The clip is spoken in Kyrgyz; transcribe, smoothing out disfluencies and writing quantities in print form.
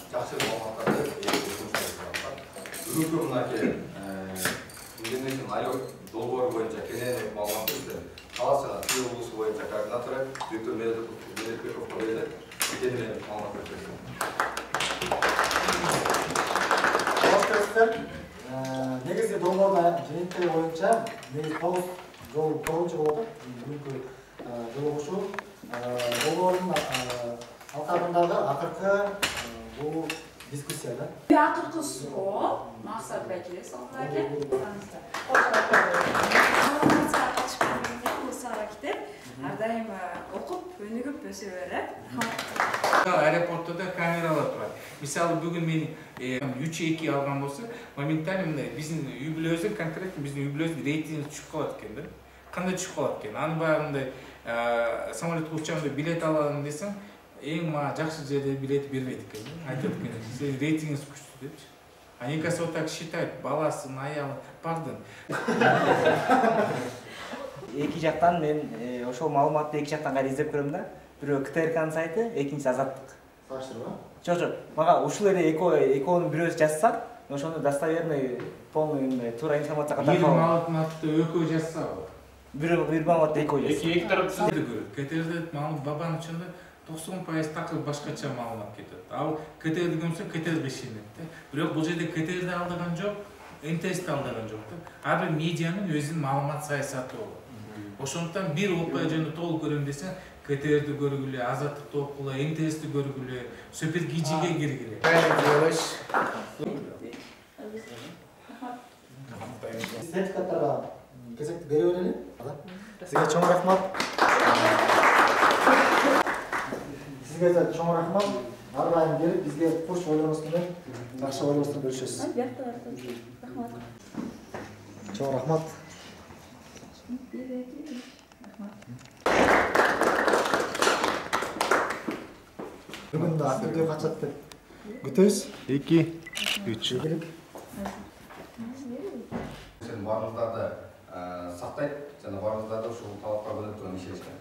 Жақсы маалыматтарды бүгүнкү мынакей Индонезиянын айлык долбоору боюнча кенен маалымат берди. Талас жана Тыл облусу боюнча координатору Виктор Мелдековго берди. Кенен маалымат берди. Негизи долбоордун жыйынтыгы боюнча негизи 9 жол болуп атат. Бүгүнкү жолугушуу долбоордун алкагындагы акыркы бул дискуссияда. Акыркы суроо Максат Бакиев Салмаке. Ар дайым окуп, өнүгүп өсө берет. Аэропортто да камералар турат. Мисалы бүгүн мен 3-2 алган болсо, моментально мындай биздин үй бүлөбүздүн конкретно биздин үй бүлөбүздүн рейтинги түшүп калат экен да. Кандай түшүп калат экен? Аны баягындай самолетке учамда билет алам десең, эң мага жакшы жерде билет бербейт экен. Айтат экен, сен рейтингиңиз күчтүү депчи. Аникасы вот так считает, баласын, аялы, бардын. Эки жактан мен ошол маалыматты эки жактан кайра издеп көрөм да. Бирөө КТРКнын сайты, экинчиси Азаттык. Салыштырма? Жок, мага ушул эле экөөнүн бирөөсү жазса, ошону достоверный, полный, туура информация катары. Бир маалыматты экөө жазса, бир маалыматты экөө жазса. Эки тарапты көрөт. КТРде маалымат бабанын ичинде 90% такыр башкача маалымат кетет. Ал КТРди көмсө КТРге ишенет да. Бирок бул жерде КТРди алдаган жок, НТСти алдаган жок да. Ар бир медианын өзүнүн маалымат саясаты болот. Ошондуктан бир окуя жөнүндө толук көрөм десең, КТРди көргүлө, Азаттыкты окугула, НТСти көргүлө, Супергижиге киргиле. Сертификаттарга кезекти бере берели. Сизге чоң рахмат. Сизге да чоң рахмат. Ар дайым келип бизге куш ойлонуңуз менен жакшы ойлонуңузду бөлүшөсүз. Рахмат. Чоң рахмат. Бүгүн да видео качат деп күтөбүз. 2, 3. Сен баарыңыздарды сактайт жана баарыңыздарды ушул талапка көзөмөл ишенишкен.